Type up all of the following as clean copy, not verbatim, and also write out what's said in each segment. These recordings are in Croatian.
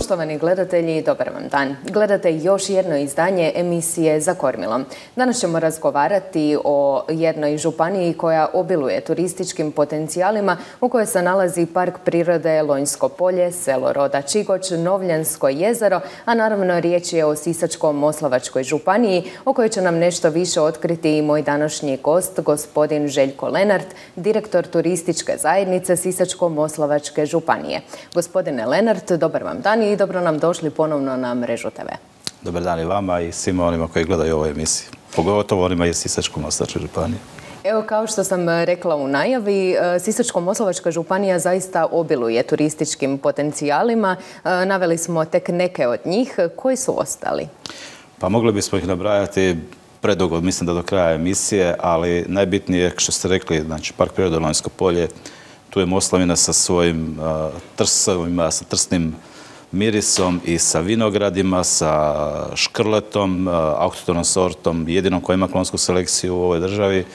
Poštovani gledatelji, dobar vam dan. Gledate još jedno izdanje emisije Za kormilom. Danas ćemo razgovarati o jednoj županiji koja obiluje turističkim potencijalima u kojoj se nalazi Park prirode Lonjsko polje, selo Roda Čigoč, Novljansko jezero, a naravno riječ je o Sisačko-moslavačkoj županiji o kojoj će nam nešto više otkriti i moj današnji gost, gospodin Željko Lenart, direktor turističke zajednice Sisačko-moslavačke županije. Gospodine Lenart, dobar vam dan i dobro nam došli ponovno na Mrežu TV. Dobar dan i vama i svima onima koji gledaju ovu emisiju, pogotovo onima iz Sisačko-moslavačke županije. Evo, kao što sam rekla u najavi, Sisačko-moslavačka županija zaista obiluje turističkim potencijalima. Naveli smo tek neke od njih. Koji su ostali? Pa mogli bismo ih nabrajati predugo, mislim da do kraja emisije, ali najbitnije je što ste rekli, znači Park prirode Lonjsko polje, tu je Moslavina sa svojim trsovima, sa trsnim mirisom i sa vinogradima, sa škrletom, autohtonom sortom, jedinom koja ima klonsku selekciju u ovoj državi.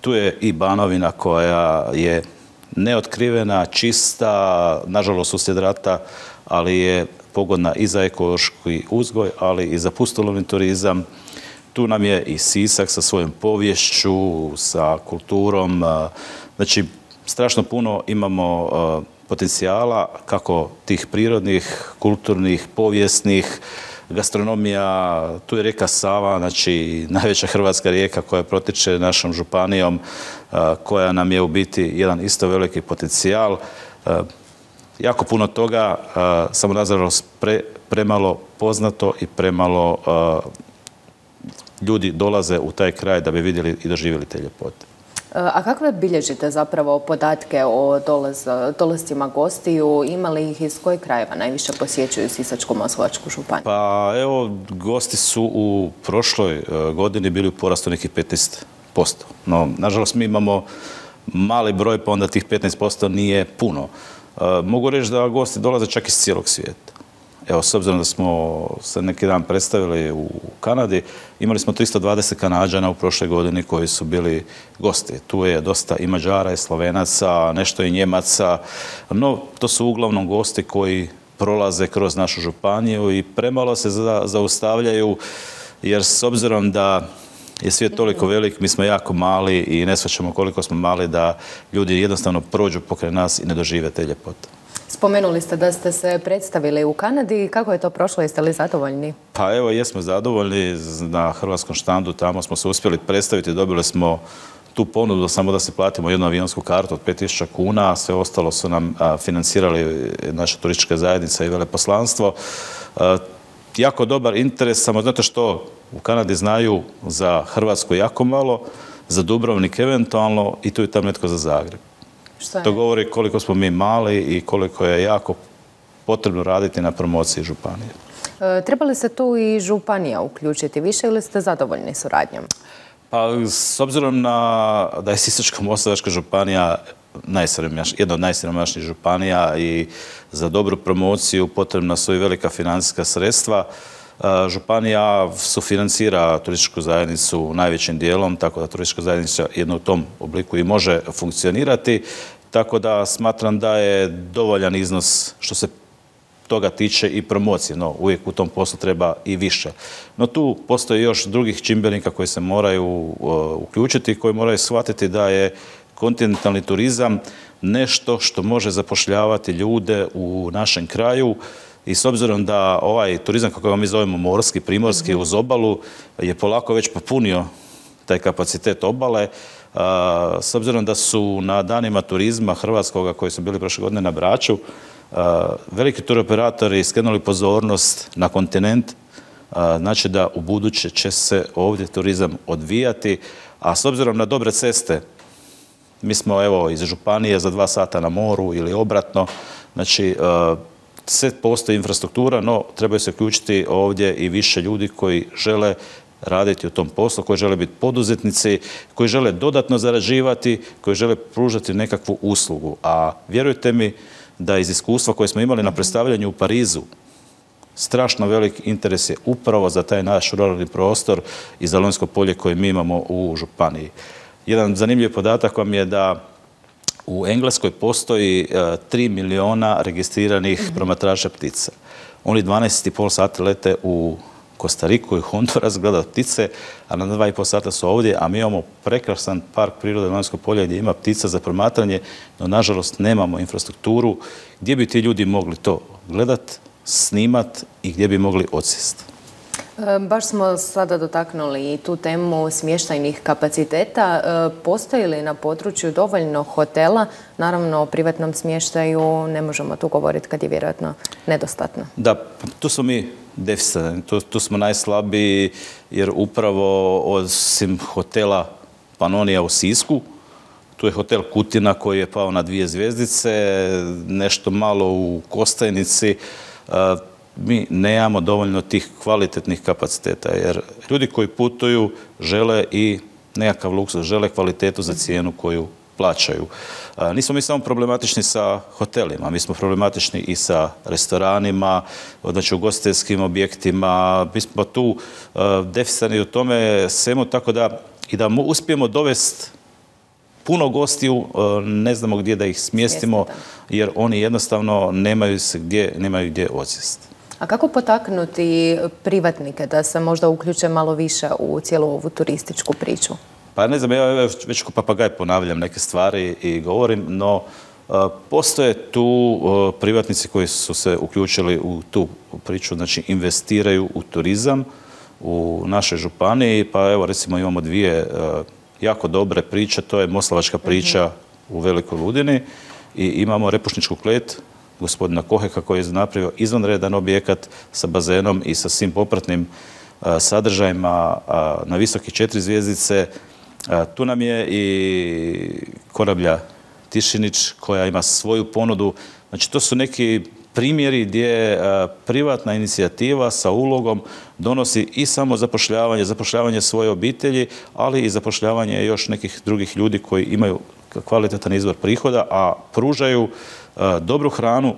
Tu je i Banovina koja je neotkrivena, čista, nažalost uslijed rata, ali je pogodna i za ekološki uzgoj, ali i za pustolovni turizam. Tu nam je i Sisak sa svojom poviješću, sa kulturom. Znači, strašno puno imamo potencijala kako tih prirodnih, kulturnih, povijesnih, gastronomija, tu je rijeka Sava, znači najveća hrvatska rijeka koja protječe našom županijom, koja nam je u biti jedan isto veliki potencijal. Jako puno toga, samo nažalost premalo poznato i premalo ljudi dolaze u taj kraj da bi vidjeli i doživjeli te ljepote. A kakve bilježite zapravo podatke o dolascima gostiju? Ima li ih iz kojih krajeva najviše posjećuju Sisačko-moslavačku županiju? Pa evo, gosti su u prošloj godini bili u porastu nekih 15%. No, nažalost, mi imamo mali broj, pa onda tih 15% nije puno. Mogu reći da gosti dolaze čak iz cijelog svijeta. Evo, s obzirom da smo se neki dan predstavili u Kanadi, imali smo 320 Kanađana u prošloj godini koji su bili gosti. Tu je dosta i Mađara i Slovenaca, nešto i Njemaca, no to su uglavnom gosti koji prolaze kroz našu županiju i premalo se zaustavljaju, jer s obzirom da je svijet toliko velik, mi smo jako mali i ne shvaćamo koliko smo mali da ljudi jednostavno prođu pokraj nas i ne dožive te ljepote. Spomenuli ste da ste se predstavili u Kanadi. Kako je to prošlo? Jeste li zadovoljni? Pa evo, jesmo zadovoljni. Na hrvatskom štandu tamo smo se uspjeli predstaviti. Dobili smo tu ponudu samo da se platimo jednu avionsku kartu od 5.000 kuna. Sve ostalo su nam financirali naša turistička zajednica i veleposlanstvo. Jako dobar interes, samo znate što, u Kanadi znaju za Hrvatsku jako malo, za Dubrovnik eventualno i tu je tam netko za Zagreb. To govori koliko smo mi mali i koliko je jako potrebno raditi na promociji županije. Treba li se tu i županija uključiti više ili ste zadovoljni suradnjom? Pa, s obzirom da je Sisačko-moslavačka županija jedna od najsiromašnijih županija i za dobru promociju potrebna su i velika financijska sredstva, županija sufinancira turističku zajednicu najvećim dijelom, tako da turistička zajednica jedno u tom obliku i može funkcionirati, tako da smatram da je dovoljan iznos što se toga tiče i promocije, no uvijek u tom poslu treba i više. No tu postoji još drugih čimbenika koji se moraju uključiti i koji moraju shvatiti da je kontinentalni turizam nešto što može zapošljavati ljude u našem kraju. I s obzirom da ovaj turizam, kako ga mi zovemo morski, primorski, uz obalu, je polako već popunio taj kapacitet obale, s obzirom da su na danima turizma hrvatskoga koji su bili prošle godine na Braču, veliki turoperatori skrenuli pozornost na kontinent, znači da u buduće će se ovdje turizam odvijati, a s obzirom na dobre ceste, mi smo evo iz županije za 2 sata na moru ili obratno, znači sve postoji infrastruktura, no trebaju se uključiti ovdje i više ljudi koji žele raditi u tom poslu, koji žele biti poduzetnici, koji žele dodatno zarađivati, koji žele pružati nekakvu uslugu. A vjerujte mi da iz iskustva koje smo imali na predstavljanju u Parizu, strašno velik interes je upravo za taj naš ruralni prostor i za Lonjsko polje koje mi imamo u županiji. Jedan zanimljiv podatak vam je da u Engleskoj postoji 3 miliona registriranih promatrača ptica. oni 12,5 sati lete u Kostariku i Honduras gledat ptice, a na 2,5 sata su ovdje, a mi imamo prekrasan park prirode Lonjsko polje gdje ima ptica za promatranje, no nažalost nemamo infrastrukturu gdje bi ti ljudi mogli to gledat, snimat i gdje bi mogli odsjesti. Baš smo sada dotaknuli tu temu smještajnih kapaciteta. Postoji li na području dovoljno hotela? Naravno, o privatnom smještaju ne možemo tu govoriti kad je vjerojatno nedostatno. Da, tu smo mi deficitarni, tu smo najslabiji jer upravo osim hotela Panonija u Sisku, tu je hotel Kutina koji je pao na 2 zvjezdice, nešto malo u Kostajnici. Mi nemamo dovoljno tih kvalitetnih kapaciteta jer ljudi koji putuju žele i nekakav luksuz, žele kvalitetu za cijenu koju plaćaju. Nismo mi samo problematični sa hotelima, mi smo problematični i sa restoranima, znači ugostiteljskim objektima. Mi smo tu deficitarni u tome svemu, tako da i da uspijemo dovesti puno gostiju, ne znamo gdje da ih smjestimo jer oni jednostavno nemaju gdje odsjesti. A kako potaknuti privatnike da se možda uključe malo više u cijelu ovu turističku priču? Pa ne znam, ja već ko papagaj ponavljam neke stvari i govorim, no postoje tu privatnici koji su se uključili u tu priču, znači investiraju u turizam u našoj županiji, pa evo recimo imamo 2 jako dobre priče, to je Moslavačka priča u Velikoj Ludini i imamo Repušničku klet gospodina Koheka koji je napravio izvanredan objekat sa bazenom i sa svim popratnim sadržajima na visokih 4 zvjezdice. Tu nam je i Korablja Tišinić koja ima svoju ponudu. Znači to su neki primjeri gdje privatna inicijativa sa ulogom donosi i samo zapošljavanje svoje obitelji, ali i zapošljavanje još nekih drugih ljudi koji imaju kvalitetan izvor prihoda, a pružaju dobru hranu,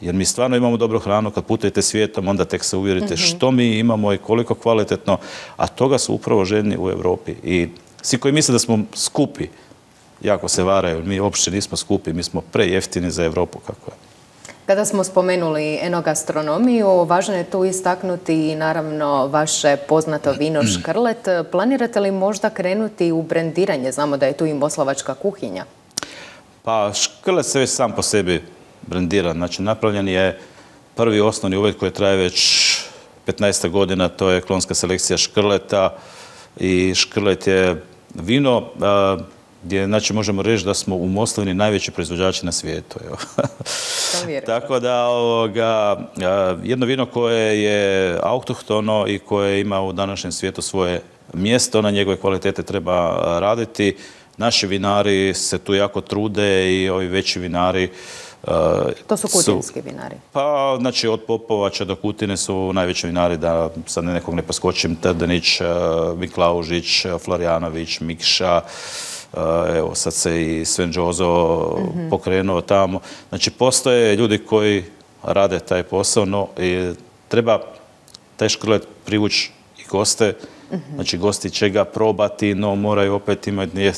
jer mi stvarno imamo dobru hranu. Kad putujete svijetom, onda tek se uvjerite što mi imamo i koliko kvalitetno, a toga su upravo željni u Europi. I svi koji misle da smo skupi, jako se varaju. Mi uopće nismo skupi, mi smo prejeftini za Europu kako je. Kada smo spomenuli enogastronomiju, važno je tu istaknuti naravno vaše poznato vino Škrlet. Planirate li možda krenuti u brendiranje? Znamo da je tu i moslavačka kuhinja. Pa Škrlet se već sam po sebi brendira. Znači napravljen je prvi osnovni uvjet koji traje već 15 godina, to je klonska selekcija Škrleta i Škrlet je vino gdje znači, možemo reći da smo u Moslavini najveći proizvođači na svijetu. Tako da jedno vino koje je autohtono i koje ima u današnjem svijetu svoje mjesto, na njegove kvalitete treba raditi. Naši vinari se tu jako trude i ovi veći vinari. To su kutinski vinari? Pa, znači od Popovača do Kutine su najveći vinari, da sad nekog ne poskočim, Trdenić, Miklaužić, Florjanović, Mikša, evo sad se i Sven Đozo pokrenuo tamo. Znači postoje ljudi koji rade taj posao, no treba taj Škrlet privući i goste. Znači gosti će ga probati, no moraju opet imati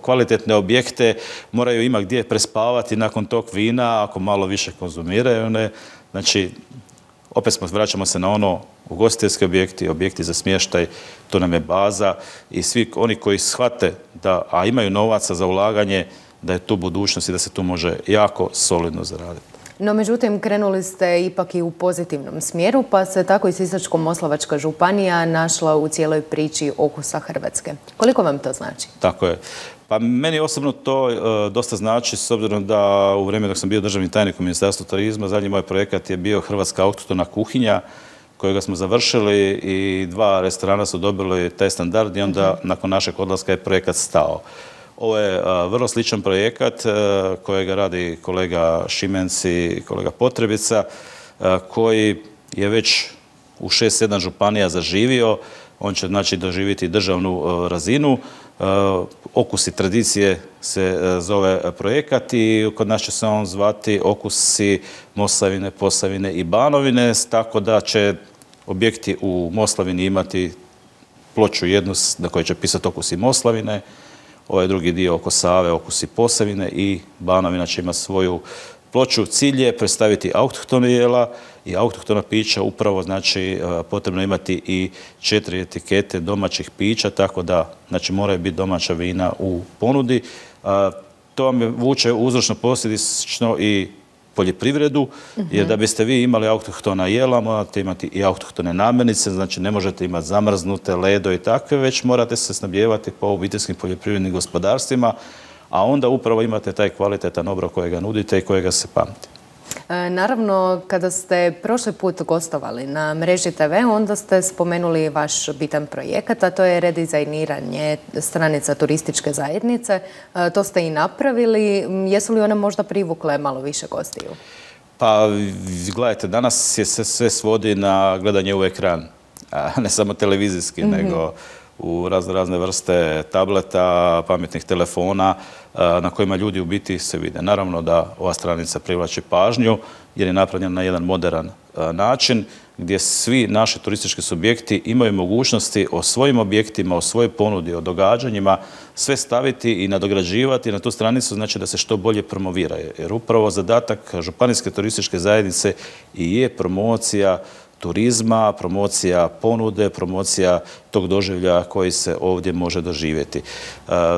kvalitetne objekte, moraju imati gdje prespavati nakon tog vina, ako malo više konzumiraju. Znači, opet vraćamo se na ono ugostiteljski objekti za smještaj, to nam je baza i svi oni koji shvate a imaju novaca za ulaganje, da je tu budućnost i da se tu može jako solidno zaraditi. No, međutim, krenuli ste ipak i u pozitivnom smjeru, pa se tako i Sisačko-moslavačka županija našla u cijeloj priči Okusa Hrvatske. Koliko vam to znači? Tako je. Pa meni osobno to dosta znači, s obzirom da u vrijeme dok sam bio državni tajnik u Ministarstvu turizma, zadnji moj projekat je bio Hrvatska autohtona kuhinja, kojega smo završili i 2 restorana su dobili taj standard i onda nakon našeg odlaska je projekat stao. Ovo je vrlo sličan projekat kojega radi kolega Šimenc i kolega Potrebica, koji je već u 6-7 županija zaživio. On će znači doživjeti državnu razinu. Okusi tradicije se zove projekat i kod nas će se on zvati Okusi Moslavine, Posavine i Banovine, tako da će objekti u Moslavini imati ploču jednu na kojoj će pisati Okusi Moslavine, ovaj drugi dio oko Save, Okusi Posavine i Banovina će imati svoju ploču. Cilj je predstaviti autohtone jela i autohtona pića, upravo znači potrebno imati i 4 etikete domaćih pića, tako da znači moraju biti domaća vina u ponudi. To vam vuče uzročno posljedično i poljoprivredu, jer da biste vi imali autohtona jela, morate imati i autohtone namirnice, znači ne možete imati zamrznute, ledo i takve, već morate se snabdijevati po obiteljskim poljoprivrednim gospodarstvima, a onda upravo imate taj kvalitetan obrok kojega nudite i kojega se pamti. Naravno, kada ste prošli put gostovali na Mreži TV, onda ste spomenuli vaš bitan projekat, a to je redizajniranje stranica turističke zajednice. To ste i napravili. Jesu li one možda privukle malo više gostiju? Pa, gledajte, danas je sve svodi na gledanje u ekran, ne samo televizijski, nego u razne vrste tableta, pametnih telefona na kojima ljudi u biti se vide. Naravno da ova stranica privlači pažnju jer je napravljena na jedan moderan način gdje svi naši turistički subjekti imaju mogućnosti o svojim objektima, o svojoj ponudi, o događanjima sve staviti i nadograđivati na tu stranicu, znači da se što bolje promovira. Jer upravo zadatak Županijske turističke zajednice i je promocija turizma, promocija ponude, promocija tog doživlja koji se ovdje može doživjeti.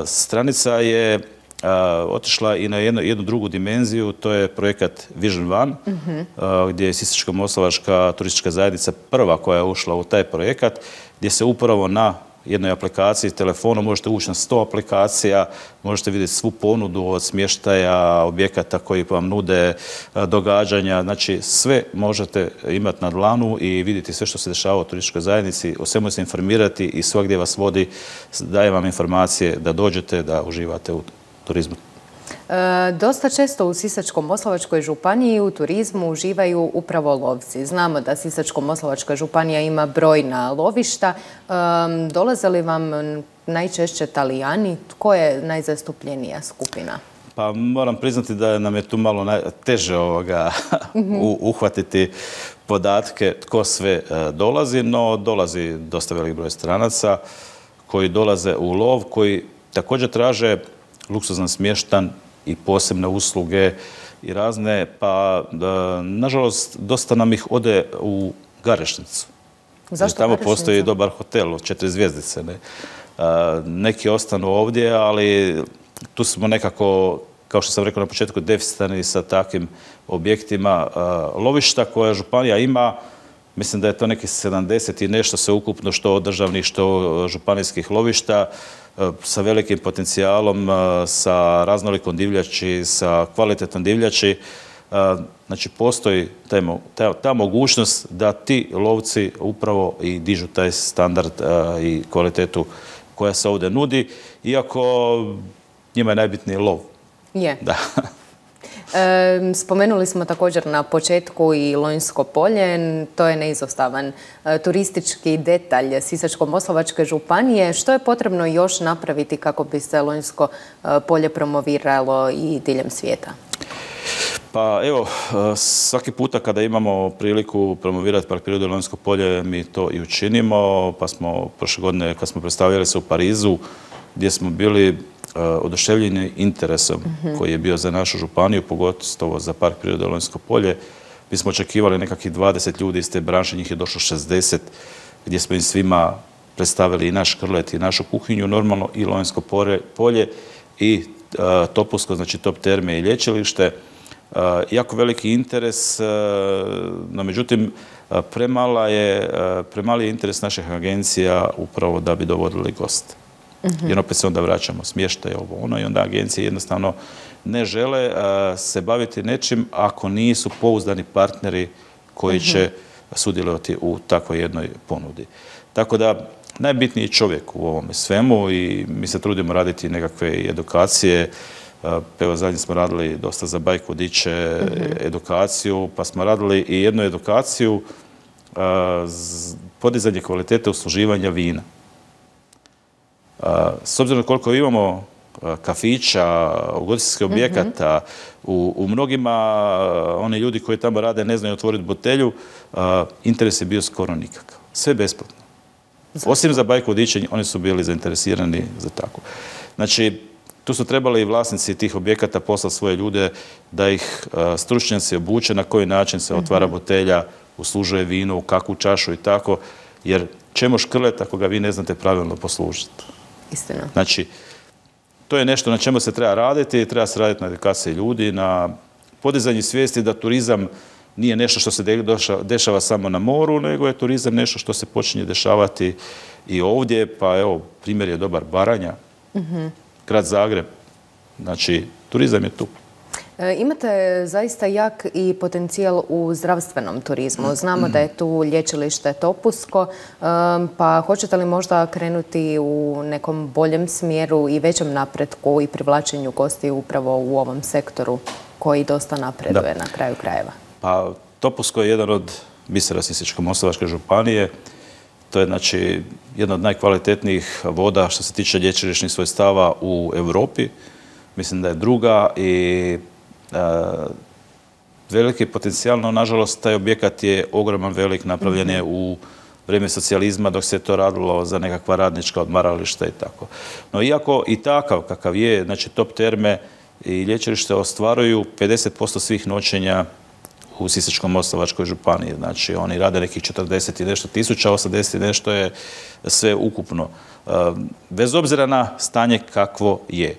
Stranica je otišla i na jednu drugu dimenziju, to je projekat Vision One, gdje je Sisačko-moslavačka turistička zajednica prva koja je ušla u taj projekat, gdje se upravo na jednoj aplikaciji telefonom možete ući na 100 aplikacija, možete vidjeti svu ponudu od smještaja, objekata koji vam nude, događanja, znači sve možete imati na dlanu i vidjeti sve što se dešava u turističkoj zajednici, o svemu se informirati i svagdje vas vodi, daje vam informacije da dođete, da uživate u turizmu. Dosta često u Sisačko-moslavačkoj županiji u turizmu uživaju upravo lovci. Znamo da Sisačko-moslavačka županija ima brojna lovišta. Dolaze li vam najčešće Talijani? Tko je najzastupljenija skupina? Pa moram priznati da nam je tu malo teže uhvatiti podatke tko sve dolazi, no dolazi dosta velik broj stranaca koji dolaze u lov, koji također traže luksuzan smještan i posebne usluge i razne, pa nažalost dosta nam ih ode u Garešnicu. Zašto tamo Garešnica? Postoji dobar hotel od 4 zvjezdice. Neki ostanu ovdje, ali tu smo nekako, kao što sam rekao na početku, deficitarni sa takvim objektima. Lovišta koja županija ima, mislim da je to neki 70 i nešto sveukupno, što državnih, što županijskih lovišta, sa velikim potencijalom, sa raznolikom divljači, sa kvalitetom divljači. Znači, postoji ta mogućnost da ti lovci upravo i dižu taj standard i kvalitetu koja se ovdje nudi, iako njima je najbitniji lov. Je. Da. Spomenuli smo također na početku i Lonjsko polje, to je neizostavan turistički detalj Sisačko-moslavačke županije. Što je potrebno još napraviti kako bi se Lonjsko polje promoviralo i diljem svijeta? Pa evo, svaki puta kada imamo priliku promovirati Park prirode Lonjsko polje, mi to i učinimo, pa smo prošle godine kad smo predstavljali se u Parizu, gdje smo bili oduševljeni interesom koji je bio za našu županiju, pogotovo za Park prirode Lonjsko polje. Mi smo očekivali nekakvih 20 ljudi iz te branše, njih je došlo 60, gdje smo im svima predstavili i naš krlet i našu kuhinju, normalno i Lonjsko polje i Topusko, znači Top terme i lječilište. Jako veliki interes, no međutim premali je interes naših agencija upravo da bi dovodili goste. Jer opet se onda vraćamo smještaj, ovo ono, i onda agencije jednostavno ne žele se baviti nečim ako nisu pouzdani partneri koji će sudjelovati u takvoj jednoj ponudi. Tako da najbitniji je čovjek u ovome svemu i mi se trudimo raditi nekakve edukacije. Evo, zadnji smo radili dosta za bajk vodiče, edukaciju, pa smo radili i jednu edukaciju podizanje kvalitete usluživanja vina. S obzirom koliko imamo kafića, ugostiteljskih objekata, u mnogima oni ljudi koji tamo rade ne znaju otvoriti butelju, interes je bio skoro nikakav. Sve besplatno. Osim za bajk vodiče, oni su bili zainteresirani za tako. Znači, Tu su trebali i vlasnici tih objekata poslati svoje ljude da ih stručnjaci obuče na koji način se otvara botelja, uslužuje vino, u kakvu čašu i tako, jer čemu škrlet ako ga vi ne znate pravilno poslužiti. Istina. Znači, to je nešto na čemu se treba raditi, treba se raditi na edukaciji ljudi, na podizanju svijesti da turizam nije nešto što se dešava samo na moru, nego je turizam nešto što se počinje dešavati i ovdje, pa evo, primjer je dobar Baranja, grad Zagreb, znači turizam je tu. Imate zaista jak i potencijal u zdravstvenom turizmu. Znamo da je tu lječilište Topusko, pa hoćete li možda krenuti u nekom boljem smjeru i većem napretku i privlačenju gostiju upravo u ovom sektoru koji dosta napreduje na kraju krajeva? Pa Topusko je jedan od bisera Sisačko-moslavačke županije. To je znači jedna od najkvalitetnijih voda što se tiče lječilišnih svojstava u Europi. Mislim da je druga i veliki potencijal, no nažalost taj objekat je ogroman, velik, napravljen je u vrijeme socijalizma dok se to radilo za nekakva radnička odmarališta i tako. No iako i takav kakav je, znači Top Terme i lječilište ostvaruju 50% svih noćenja u Sisačko-moslavačkoj županiji. Znači oni rade nekih 40 i nešto tisuća, 80 i nešto je sve ukupno. Bez obzira na stanje kakvo je.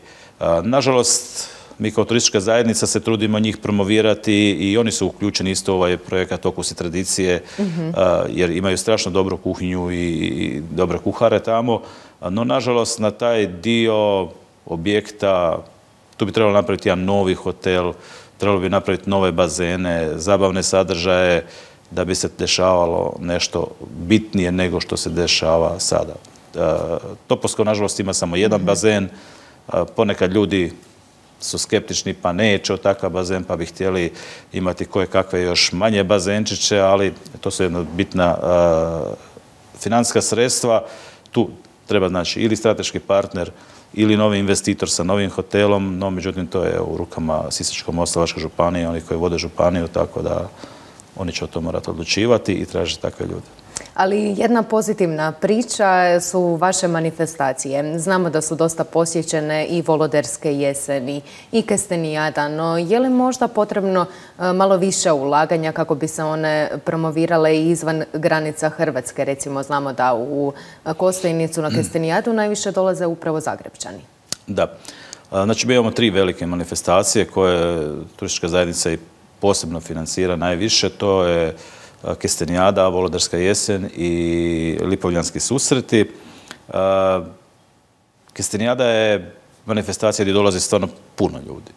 Nažalost, mi kao turistička zajednica se trudimo njih promovirati i oni su uključeni isto u ovaj projekat Okus i tradicije, jer imaju strašno dobru kuhinju i dobre kuhare tamo. No, nažalost, na taj dio objekta tu bi trebalo napraviti jedan novi hotel, trebalo bi napraviti nove bazene, zabavne sadržaje, da bi se dešavalo nešto bitnije nego što se dešava sada. Topusko, nažalost, ima samo jedan bazen. Ponekad ljudi su skeptični pa neće od takav bazen, pa bi htjeli imati koje kakve još manje bazenčiće, ali to su jedna bitna financijska sredstva. Tu treba znači ili strateški partner ili novi investitor sa novim hotelom, no međutim to je u rukama Sisačko-moslavačke županije, oni koji vode županiju, tako da oni će o tom morati odlučivati i tražiti takve ljude. Ali jedna pozitivna priča su vaše manifestacije. Znamo da su dosta posjećene i Voloderske jeseni i Kestenijada, no je li možda potrebno malo više ulaganja kako bi se one promovirale i izvan granica Hrvatske? Recimo, znamo da u Kostajnicu na Kestenijadu najviše dolaze upravo Zagrepčani. Da. Znači, mi imamo 3 velike manifestacije koje turistička zajednica i posebno financira najviše. To je Kestenijada, Voloderska jesen i Lipovljanski susreti. Kestenijada je manifestacija gdje dolazi stvarno puno ljudi.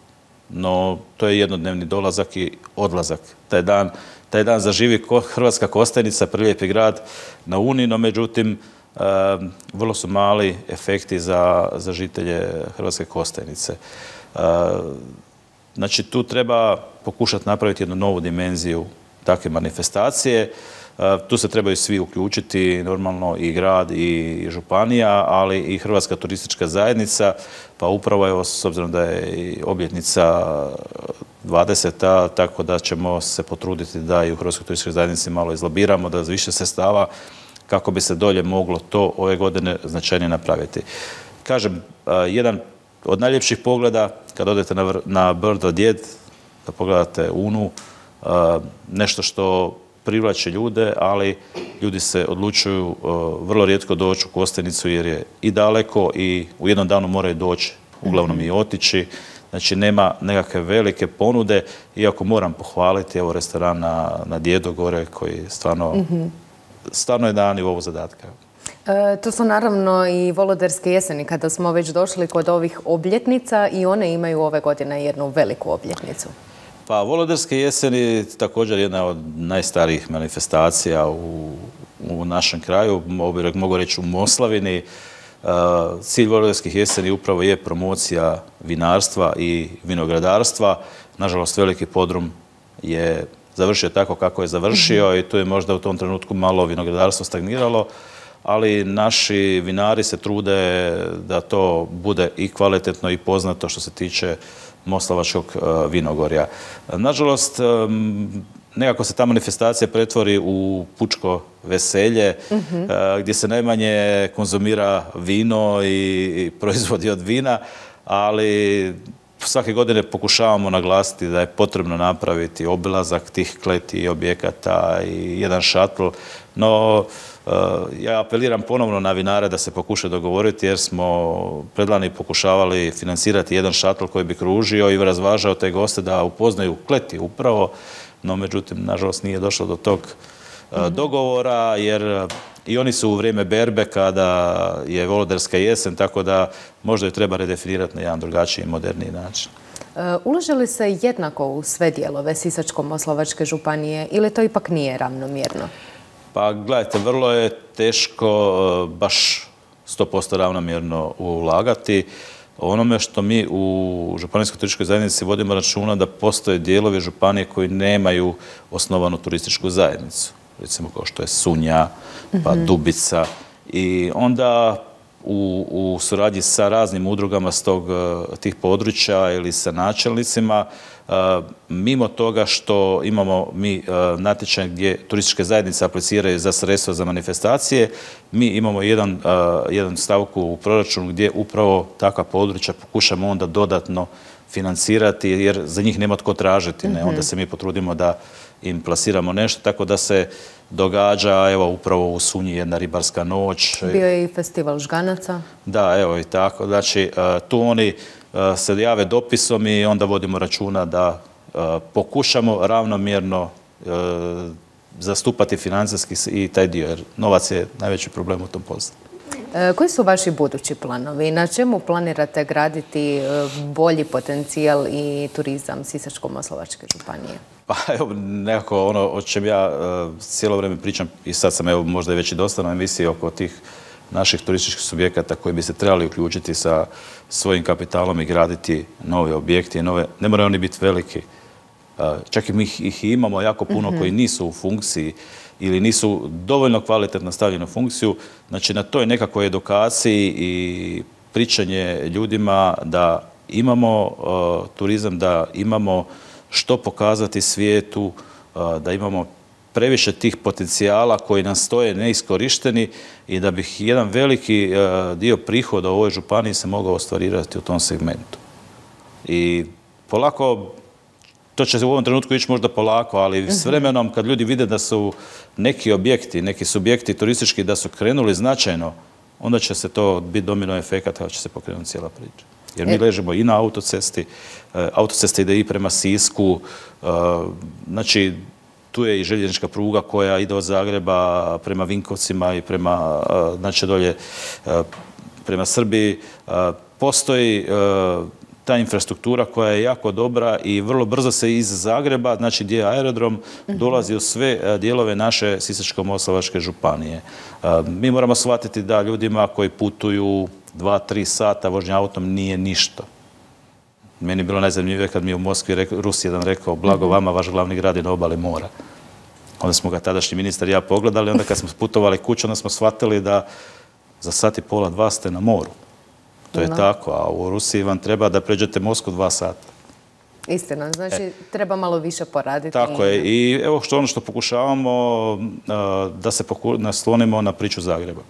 No, to je jednodnevni dolazak i odlazak. Taj dan zaživi Hrvatska Kostajnica, prelijepi grad na Uni, no međutim, vrlo su mali efekti za žitelje Hrvatske Kostajnice. Znači, tu treba pokušati napraviti jednu novu dimenziju takve manifestacije. Tu se trebaju svi uključiti, normalno i grad i županija, ali i Hrvatska turistička zajednica, pa upravo evo, s obzirom da je i obljetnica 20. tako da ćemo se potruditi da i u Hrvatskoj turističkoj zajednici malo izlobiramo, da više sredstava kako bi se dolje moglo to ove godine značajnije napraviti. Kažem, jedan od najljepših pogleda, kad odete na brdo Djed, da pogledate Unu, nešto što privlači ljude, ali ljudi se odlučuju vrlo rijetko doći u Kostajnicu jer je i daleko i u jednom danu moraju doći, uglavnom i otići. Znači, nema nekakve velike ponude, iako moram pohvaliti evo restoran na Djedu gore koji stvarno je na nivou zadatka. To su naravno i Voloderske jeseni, kada smo već došli kod ovih obljetnica i one imaju ove godine jednu veliku obljetnicu. Pa Voloderske jeseni također jedna od najstarijih manifestacija u našem kraju, mogu reći u Moslavini. Cilj Voloderskih jeseni upravo je promocija vinarstva i vinogradarstva. Nažalost, veliki podrum je završio tako kako je završio i tu je možda u tom trenutku malo vinogradarstvo stagniralo, ali naši vinari se trude da to bude i kvalitetno i poznato što se tiče Moslavačkog vinogorja. Nažalost, nekako se ta manifestacija pretvori u pučko veselje, gdje se najmanje konzumira vino i proizvodi od vina, ali svake godine pokušavamo naglasiti da je potrebno napraviti obilazak tih kleti i objekata i jedan šatl, no ja apeliram ponovno na vinare da se pokuša dogovoriti jer smo predlani pokušavali financirati jedan šatl koji bi kružio i razvažao te goste da upoznaju kleti upravo, no međutim, nažalost, nije došlo do tog dogovora jer i oni su u vrijeme berbe kada je Volodarska jesen, tako da možda ju treba redefinirati na jedan drugačiji i moderniji način. Ulaže li se jednako u sve dijelove Sisačko-moslavačke županije ili to ipak nije ravnomjerno? Pa gledajte, vrlo je teško baš 100% ravnomjerno ulagati. Onome što mi u Županijskoj turističkoj zajednici vodimo računa da postoje dijelovi županije koji nemaju osnovanu turističku zajednicu. Recimo kao što je Sunja, pa Dubica. I onda u suradnji sa raznim udrugama s tih područja ili sa načelnicima, mimo toga što imamo mi natječaj gdje turističke zajednice apliciraju za sredstva za manifestacije, mi imamo jedan stavku u proračunu gdje upravo takva područja pokušamo onda dodatno financirati jer za njih nema tko tražiti. Onda se mi potrudimo da im plasiramo nešto, tako da se događa, evo, upravo u Sunji jedna ribarska noć. Bio je i festival žganaca. Da, evo i tako. Znači, tu oni se jave dopisom i onda vodimo računa da pokušamo ravnomjerno zastupati financijski i taj dio, jer novac je najveći problem u tom poslu. Koji su vaši budući planovi? Na čemu planirate graditi bolji potencijal i turizam Sisačko-moslavačke županije? Pa evo, nekako ono o čem ja cijelo vrijeme pričam i sad sam evo možda već i dosta na emisiji oko tih naših turističkih subjekata koji bi se trebali uključiti sa svojim kapitalom i graditi nove objekte. Ne moraju oni biti veliki. Čak i mi ih imamo jako puno koji nisu u funkciji ili nisu dovoljno kvalitetno stavljeni u funkciju. Znači, na toj nekakvoj edukaciji i pričanje ljudima da imamo turizam, da imamo što pokazati svijetu, da imamo previše tih potencijala koji nam stoje neiskorišteni i da bi jedan veliki dio prihoda u ovoj županiji se mogao ostvarirati u tom segmentu. I polako, to će u ovom trenutku ići možda polako, ali s vremenom kad ljudi vide da su neki objekti, neki subjekti turistički da su krenuli značajno, onda će se to biti domino efekat, kada će se pokrenuti cijela priča. Jer mi ležimo i na autocesti, autocesta ide i prema Sisku, znači tu je i željeznička pruga koja ide od Zagreba prema Vinkovcima i prema, znači dolje, prema Srbiji. Postoji ta infrastruktura koja je jako dobra i vrlo brzo se iz Zagreba, znači gdje je aerodrom, dolazi u sve dijelove naše Sisačko-moslavačke županije. Mi moramo shvatiti da ljudima koji putuju 2-3 sata vožnja autom nije ništa. Meni je bilo najzanimljivije kad mi je u Moskvi Rus jedan rekao blago vama, vaš glavni grad je na obali mora. Onda smo ga tadašnji ministar i ja pogledali, onda kad smo putovali kuću, onda smo shvatili da za sat i pola, 2 ste na moru. To je tako, a u Rusiji vam treba da pređete Moskvu 2 sata. Istina, znači treba malo više poraditi. Tako je i evo ono što pokušavamo da se naslonimo na priču Zagreba.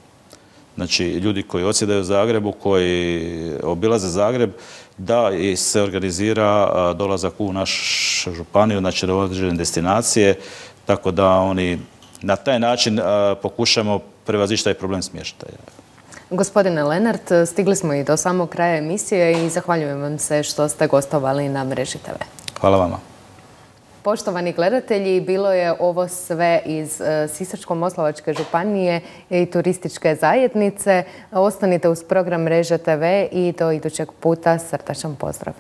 Znači, ljudi koji odsjedaju u Zagrebu, koji obilaze Zagreb, da se organizira dolazak u našu županiju, znači na određene destinacije, tako da oni na taj način pokušamo prevazići taj problem smještaja. Gospodine Lenart, stigli smo i do samog kraja emisije i zahvaljujem vam se što ste gostovali na Mreži TV. Hvala vama. Poštovani gledatelji, bilo je ovo sve iz Sisačko-moslavačke županije i turističke zajednice. Ostanite uz program Mreže TV i do idućeg puta srdačan pozdrav.